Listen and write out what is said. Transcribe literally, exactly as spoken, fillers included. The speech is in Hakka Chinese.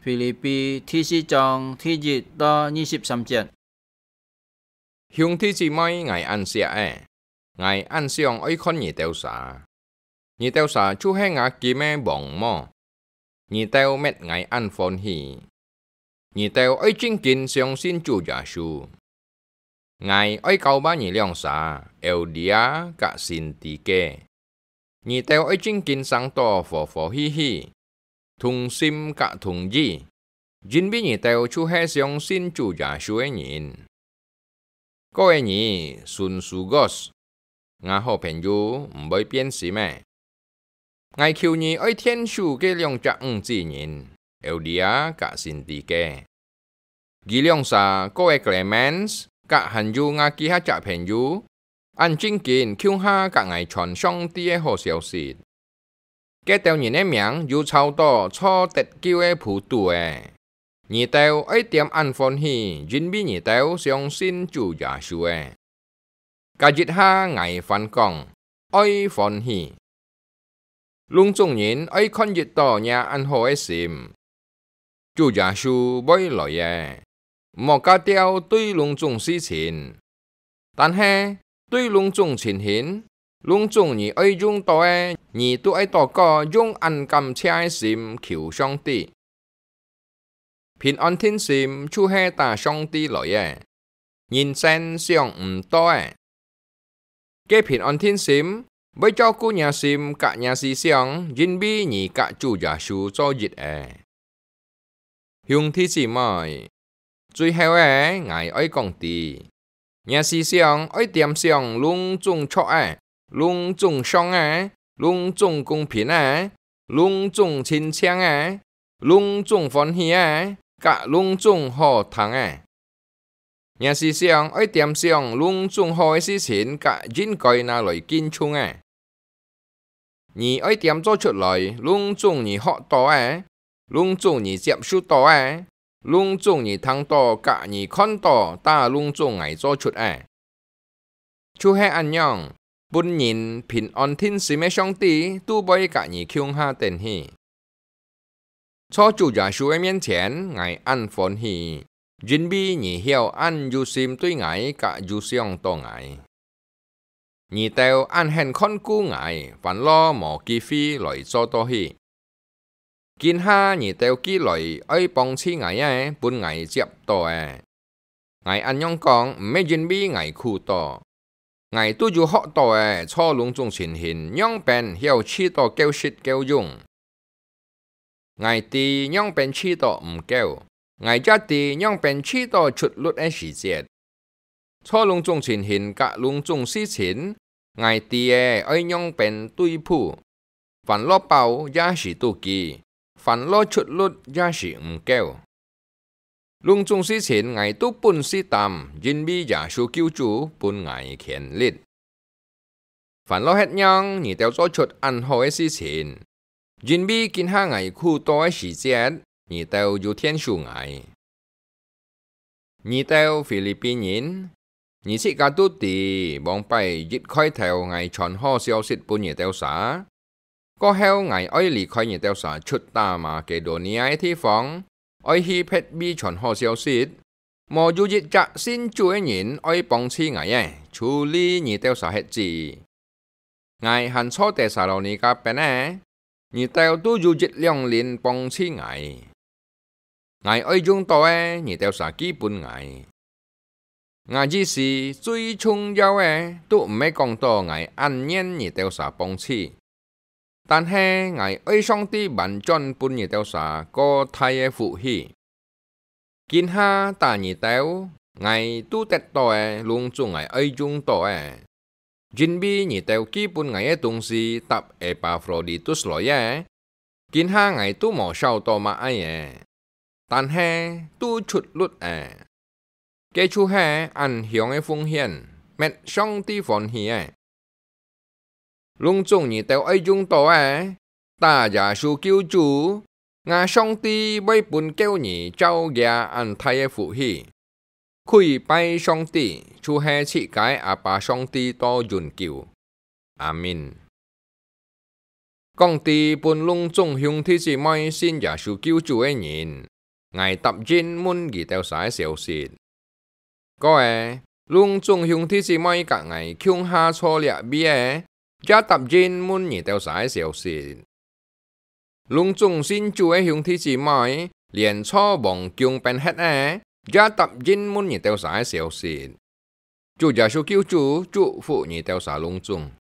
腓立比第四章第一到二十三節。兄弟姊妹，𠊎恁惜个，𠊎恁想愛看你兜儕。你兜儕就係吾金个黃毛，你兜搣𠊎恁歡喜。你兜愛真經相信主耶穌。𠊎愛交辦你兩儕，Euodia佮Sintique。你兜愛真經生到和和氣氣， 同心佮同意，因為你兜就係相信主耶穌个人。過个日，Synzygas，吾好朋友毋會變心个。𠊎求你愛𢯭手該兩隻女子人，Euodia佮Sintique。 佢兩儕過个Klemens，佮還有吾幾下隻朋友，恁真經共下佮𠊎傳上帝个好消息。該兜人个名有抄到坐得救个簿肚仔。你兜愛點恁歡喜，因為你兜相信主耶穌仔。 該一下𠊎還講：「愛歡喜！」攏總人愛看得著若恁好个心。主耶穌會來仔，毋好加吊對攏總事情。但係，對攏總情形，攏總你愛用著个，你都愛禱告，用恁感謝个心求上帝。 平安定心就係打上帝來个，人生想毋著个。該平安定心會照顧若心佮若思想，因為你佮主耶穌做一仔。兄弟姊妹，最後仔，𠊎愛講知， 若思想愛點想攏總著个，攏總上个，攏總公平个，攏總清淨个，攏總歡喜个，佮攏總好聽个。若思想愛點想攏總好个事情佮應該拿來敬重个。 你愛點做出來，攏總你學著个，攏總你接受著个，攏總你聽著佮你看著，打攏總𠊎做出个。就係恁樣，分人平安定心个上帝都會佮你共下等去。 在主耶穌个面前，𠊎恁歡喜，因為你曉恁有心對𠊎佮有想著𠊎。你兜恁肯看顧𠊎，還落無機會來做到去。今下你兜寄來愛幫助𠊎个，分𠊎接著仔。 𠊎恁樣講，毋係因為𠊎苦惱，𠊎都有學著仔，在攏總情形仰般曉試著夠食夠用。𠊎知仰般試著毋夠，𠊎也知仰般試著出力个時節。在攏總情形佮攏總事情，𠊎知仔愛仰般對付，還落飽也係肚飢，還落出力也係毋夠。 攏總事情𠊎都本事擔，因為耶穌救主分𠊎權力。還落歇讓你兜做出恁好个事情，因為今下𠊎苦惱个時節，你兜有𢯭手𠊎。你兜腓立比人，你自家都知，往擺一開頭𠊎傳好消息分你兜儕， 過後𠊎愛離開你兜儕出大馬其多尼亞个地方，愛去別位傳好消息，無有一隻信主个人愛幫助𠊎仔，除了你兜儕歇子。𠊎還在帖撒羅尼迦邊仔，你兜都有一兩輪幫助𠊎。 𠊎愛用著个，你兜儕寄分𠊎。𠊎意思最重要个，都毋係講著𠊎恁願你兜儕幫助，但係𠊎愛上帝翻轉分你兜儕過大个福氣。今下打你兜，𠊎都得著个，攏總𠊎愛用著个。 因為你兜寄分𠊎个東西搭Epafroditus來个，今下𠊎都無少著麼个仔，但係都出力仔。該就係恁香个奉獻，乜上帝歡喜个。攏總你兜愛用著个， 打耶穌救主，吾上帝會分各位照樣恁大个福氣。跪拜上帝，就係自家阿爸上帝到永久。阿們。講知分攏總兄弟姊妹信耶穌救主个人， ，𠊎答應問你兜儕个消息。」「過仔，攏總兄弟姊妹佮𠊎共下坐這位仔，也答應問你兜儕个消息。」「攏總信主个兄弟姊妹，連坐王宮變忒仔，也答應問你兜儕个消息。」「主耶穌救主祝福你兜儕攏總。」